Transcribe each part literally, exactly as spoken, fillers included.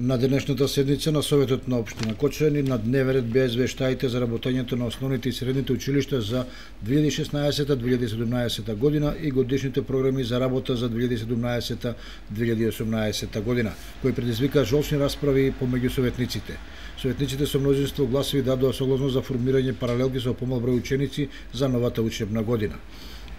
На денешната седница на Советот на општина Кочани на дневен ред беа извештаите за работењето на основните и средните училишта за две илјади и шеснаесета - две илјади и седумнаесета година и годишните програми за работа за две илјади и седумнаесета - две илјади и осумнаесета година, кои предизвика жолчни расправи помеѓу советниците. Советниците со мнозинство гласови дадоа согласност за формирање паралелки со помал број ученици за новата учебна година.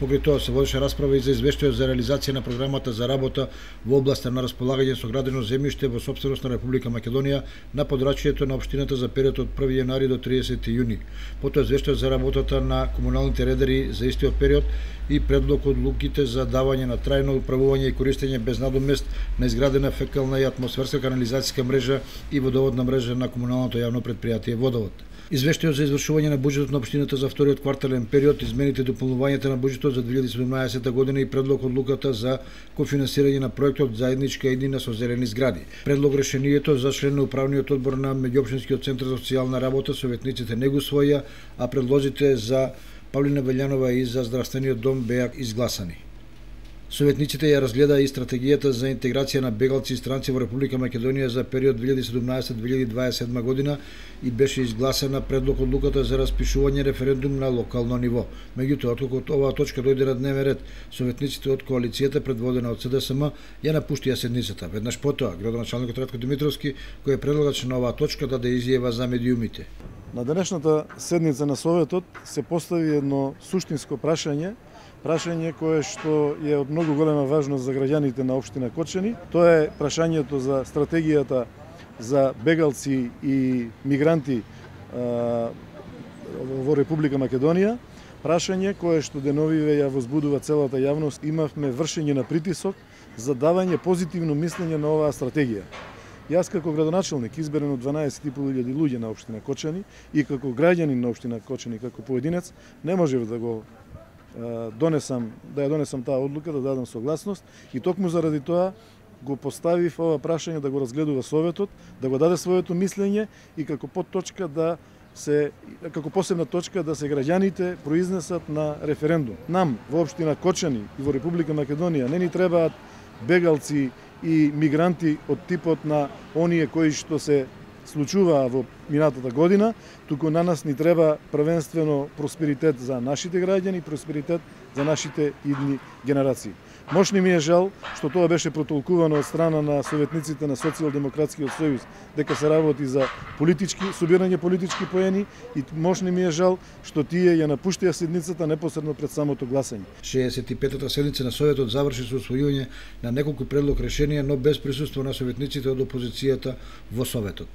Покрај тоа се водеше расправа и за извештајот за реализација на програмата за работа во областа на располагање со градено земјиште во сопственост на Република Македонија на подрачјето на општината за период од први јанари до тридесети јуни. Потоа извештајот за работата на комуналните редари за истиот период и предлог одлуките за давање на трајно управување и користење без надомест на изградена фекална и атмосферска канализацијска мрежа и водоводна мрежа на комуналното јавно претпријатие Водовод. Извештајот за извршување на буџетот на општината за вториот квартален период, измените и дополнувањата на буџетот за две илјади и седумнаесета година и предлог одлуката за кофинансирање на проектот Заедничка иднина со зелени згради. Предлог решението за член на управниот одбор на меѓуопштинскиот центар за социјална работа советниците не го усвоија, а предлозите за Павлина Белјанова и за здравствениот дом беа изгласани. Советниците ја разгледаа и стратегијата за интеграција на бегалци и странци во Република Македонија за период две илјади и седумнаесета - две илјади и дваесет и седма година и беше изгласена предлог одлуката за распишување референдум на локално ниво. Меѓутоа, откако оваа точка дојде на дневен ред, советниците од коалицијата предводена од С Д С М ја напуштија седницата. Веднаш потоа, градоначалникот Ратко Димитровски, кој е предлагач на оваа точка, даде изјава за медиумите. На денешната седница на Советот се постави едно суштинско прашање, прашање кое што е од многу голема важност за граѓаните на општина Кочани. Тоа е прашањето за стратегијата за бегалци и мигранти а, во Република Македонија. Прашање кое што деновиве ја возбудува целата јавност. Имавме вршење на притисок за давање позитивно мислење на оваа стратегија. Јас како градоначалник, изберен од дванаесет и пол илјади луѓе на општина Кочани и како граѓанин на општина Кочани, како поединец, не можев да го донесам, да ја донесам таа одлука, да дадам согласност и токму заради тоа го поставив ова прашање да го разгледува Советот, да го даде своето мислење и како подточка да се, како посебна точка да се граѓаните произнесат на референдум. Нам во општина Кочани и во Република Македонија не ни требаат бегалци и мигранти од типот на оние кои што се случуваа во минатата година, туку на нас ни треба првенствено просперитет за нашите граѓани, просперитет за нашите идни генерации. Мошни ми е жал што тоа беше протолкувано од страна на советниците на Социјалдемократскиот сојуз дека се работи за политички собирање политички поени и мошни ми е жал што тие ја напуштија седницата непосредно пред самото гласање. шеесет и петата седница на Советот заврши со усвојување на неколку предлог решенија, но без присуство на советниците од опозицијата во Советот.